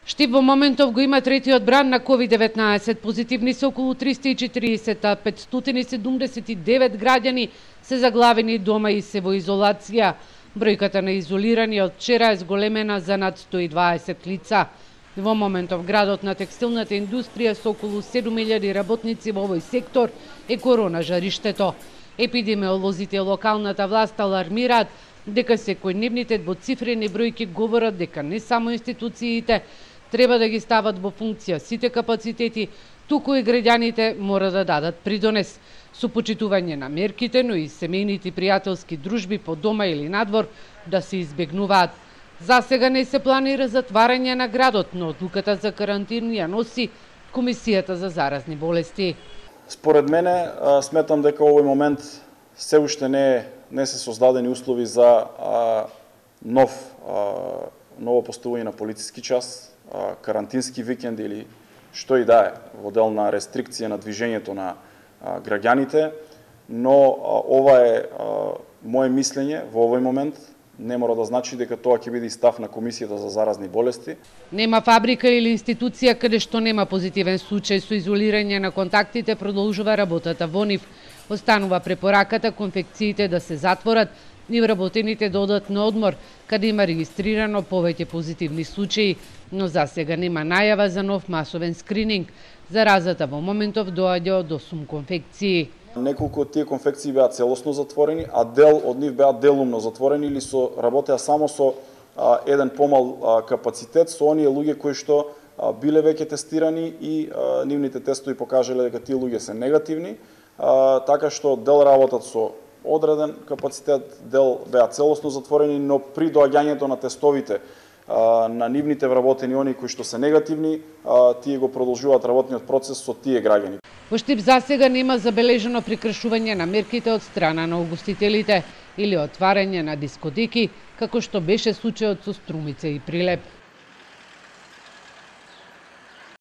Штип во моментов го има третиот бран на COVID-19. Позитивни се околу 340, а 579 граѓани се заглавени дома и се во изолација. Бројката на изолирани од вчера е зголемена за над 120 лица. Во моментов градот на текстилната индустрија со околу 7000 работници во овој сектор е корона жариштето. Епидемиолозите и локалната власт алармираат дека секојдневните двоцифрени бројки говорат дека не само институциите треба да ги стават во функција сите капацитети, туку и граѓаните мора да дадат придонес со почитување на мерките, но и семејните пријателски дружби по дома или надвор да се избегнуваат. За сега не се планира затварање на градот, но одлуката за карантин ја носи Комисијата за заразни болести. Според мене, сметам дека овој момент се уште не се создадени услови за ново поставување на полициски час, карантински викенд или што и да е, во дел на рестрикција на движењето на граѓаните, но ова е моje мислење во овој момент. Не мора да значи дека тоа ќе биде и став на Комисијата за заразни болести. Нема фабрика или институција каде што нема позитивен случај со изолирање на контактите, продолжува работата во нив. Останува препораката конфекциите да се затворат и вработените да одат на одмор, каде има регистрирано повеќе позитивни случаи, но за сега нема најава за нов масовен скрининг. Заразата во моментов доаѓа од 8 конфекции. Неколку од тие конфекции беа целосно затворени, а дел од нив беа делумно затворени или работеа само со еден помал капацитет, со оние луѓе кои што биле веќе тестирани и нивните тестови покажале дека тие луѓе се негативни, така што дел работат со одреден капацитет, дел беа целосно затворени, но при доаѓањето на тестовите на нивните вработени они кои што се негативни, тие го продолжуваат работниот процес со тие граѓани. Во Штип засега нема забележено прекршување на мерките од страна на угостителите или отварање на дискотеки, како што беше случајот со Струмица и Прилеп.